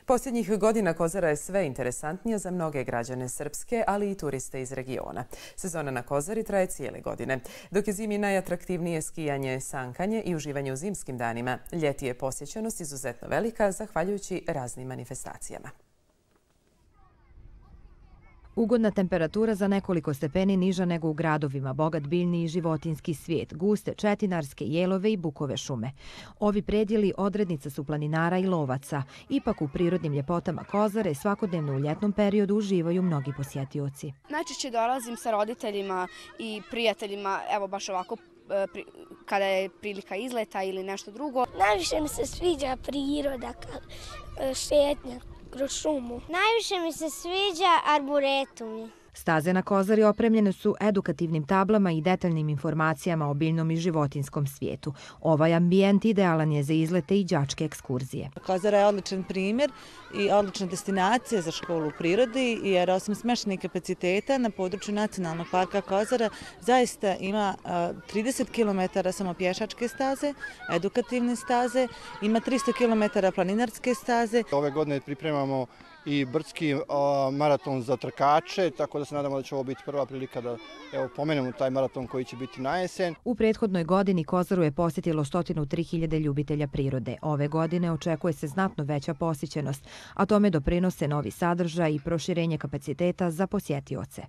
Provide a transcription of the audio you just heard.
Posljednjih godina Kozara je sve interesantnija za mnoge građane Srpske, ali i turiste iz regiona. Sezona na Kozari traje cijele godine. Dok je zimi najatraktivnije skijanje, sankanje i uživanje u zimskim danima, ljeti je posjećenost izuzetno velika zahvaljujući raznim manifestacijama. Ugodna temperatura za nekoliko stepeni niža nego u gradovima, bogat biljni i životinjski svijet, guste četinarske, jelove i bukove šume. Ovi predjeli odrednica su planinara i lovaca. Ipak u prirodnim ljepotama Kozare svakodnevno u ljetnom periodu uživaju mnogi posjetioci. Najčešće dolazim sa roditeljima i prijateljima, evo baš ovako kada je prilika izleta ili nešto drugo. Najviše mi se sviđa priroda, šetnja kroz šumu. Najviše mi se sviđa arboretumi. Staze na Kozari opremljene su edukativnim tablama i detaljnim informacijama o biljnom i životinskom svijetu. Ovaj ambijent idealan je za izlete i đačke ekskurzije. Kozara je odličan primjer i odlična destinacija za školu u prirodi, jer osim smještajnih kapaciteta na području Nacionalnog parka Kozara zaista ima 30 km samo pješačke staze, edukativne staze, ima 300 km planinarske staze. Ove godine pripremamo i brdski maraton za trkače, tako da se nadamo da će ovo biti prva prilika da pomenemo taj maraton koji će biti na jesen. U prethodnoj godini Kozaru je posjetilo 103.000 ljubitelja prirode. Ove godine očekuje se znatno veća posjećenost, a tome doprinose novi sadržaj i proširenje kapaciteta za posjetioce.